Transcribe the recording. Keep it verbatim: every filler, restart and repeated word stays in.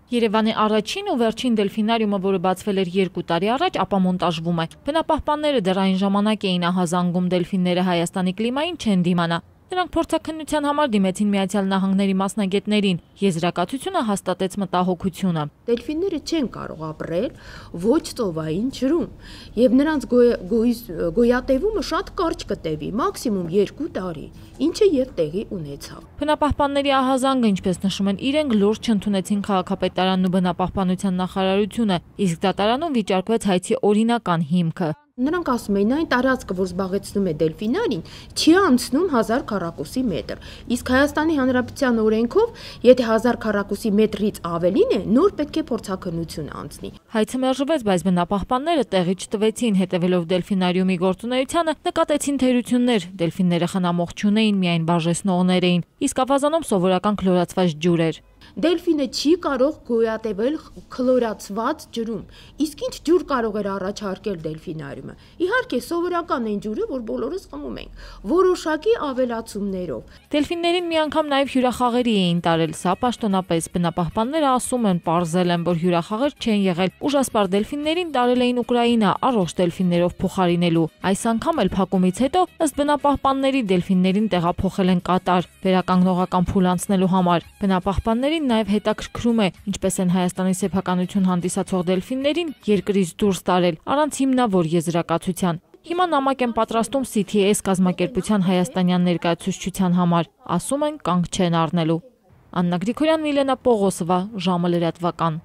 Երևանի առաջին ու վերջին դելֆինարիումը, որը բացվել էր երկու տարի առաջ, ապա մոնտաժվում է։ Բնապահպանները դեռ այն ժամանակ էին ահազանգում դելֆինները Հայաստանի կլիմային չեն դիմանա։ Նրանք փորձաքննության համար դիմեցին Միացյալ Նահանգների մասնագետներին։ Եզրակացությունը հաստատեց մտահոգությունը։ Դելֆինները չեն կարող ապրել ոչ ծովային ջրում, եւ նրանց գոյատևումը շատ կարճ կտևի, մաքսիմում երկու տարի, ինչը եւ տեղի ունեցավ։ Բնապահպանների ահազանգը, ինչպես նշում են իրենք, լուրջ չընդունեցին քաղաքապետարանն ու բնապահպանության նախարարությունը, իսկ դատարանում վիճարկվեց հայցի օրինական հիմքը։ Նրանք ասում էին, այն տարածքը, որ զբաղեցնում է դելֆինարին, չի անցնում հազար քառակուսի մետր, իսկ Հայաստանի Հանրապետության օրենքով, եթե հազար քառակուսի մետրից ավելին է, նոր պետք է փորձաքննություն անցնի։ Հայցը մերժվեց, բայց բնապահպանները տեղի չտվեցին, հետևելով դելֆինարիումի գործունեությանը, նկատեցին թերություններ։ Դելֆինները խնամող չունեին, միայն բաժեսնողներ էին, իսկ ավազանում սովորական քլորացված ջուր էր։ Դելֆինը չի կարող գոյատևել քլորացված ջրում, իսկ ինչ ջուր կարող էր առաջարկել դելֆինարիումը։ Իհարկե, սովորական այն ջուրը, որ բոլորս խմում ենք, որոշակի ավելացումներով։ Դելֆիններին մի անգամ նաև հյուրախաղերի էին տարել, սա պաշտոնապես։ Բնապահպանները ասում են, պարզել են, որ հյուրախաղեր չեն եղել։ Ուժասպառ դելֆիններին տարել էին Ուկրաինա, առողջ դելֆիններով փոխարինելու։ Այս անգամ էլ փակումից հետո, ըստ բնապահպանների, դելֆիններին տեղափոխել են Կատար, վերականգնողական փուլ անցնելու համար։ Բնապահպաններին նաև հետաքրքրում է, ինչպես են Հայաստանի սեփականություն հանդիսացող դելֆիններին երկրից դուրս տարել, առանց հիմնավոր եզրակացության։ Հիմա նամակ են պատրաստում C T S կազմակերպության հայաստանյան ներկայացուցչության համար, ասում են կանգ չեն առնելու։ Աննա Գրիգորյան, Միլենա Պողոսովա, ժամը լրատվական։